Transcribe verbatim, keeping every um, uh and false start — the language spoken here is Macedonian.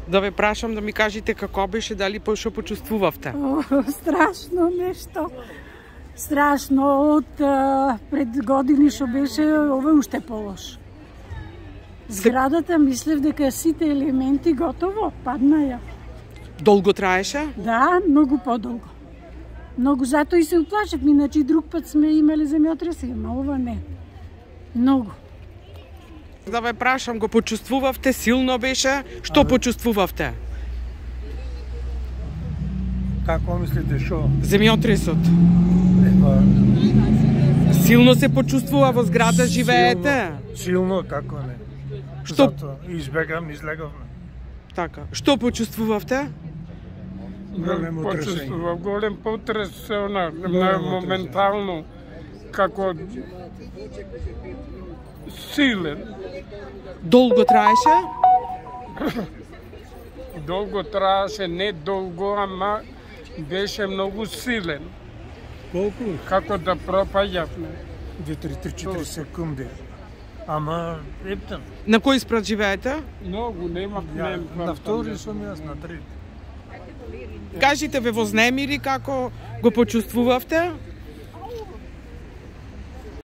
Да ве прашам да ми кажете како беше, дали по што почувствувавте? О, страшно нешто. Страшно, од а, пред години што беше, ова уште полош. Зградата мислев дека сите елементи готово, падна ја. Долго траеше? Да, многу подолго. Многу, затоа и се уплашев, иначе и друг пат сме имали земјотреси, ама ова не. Многу. Да ве прашам, го почувствувавте, силно беше? Што а, почувствувавте? Како мислите, шо? Земјотресот. Ева, силно се почувствува во зграда, живеете? Силно, силно како не. Што? Зато избегам, излеговме. Така. Што почувствувавте? Големо тресење. Почувствував голем потрес, се она, моментално, како силен. Долго траеше? Долго траеше, не долго, ама беше многу силен. Колку? Како да пропаѓавме. две-три-четири секунди. Ама, ептен. На кој спрат живеете? Многу, нема Ја, нема. на втори сум јас, на трети. Кажите ве вознемири како го почувствувавте?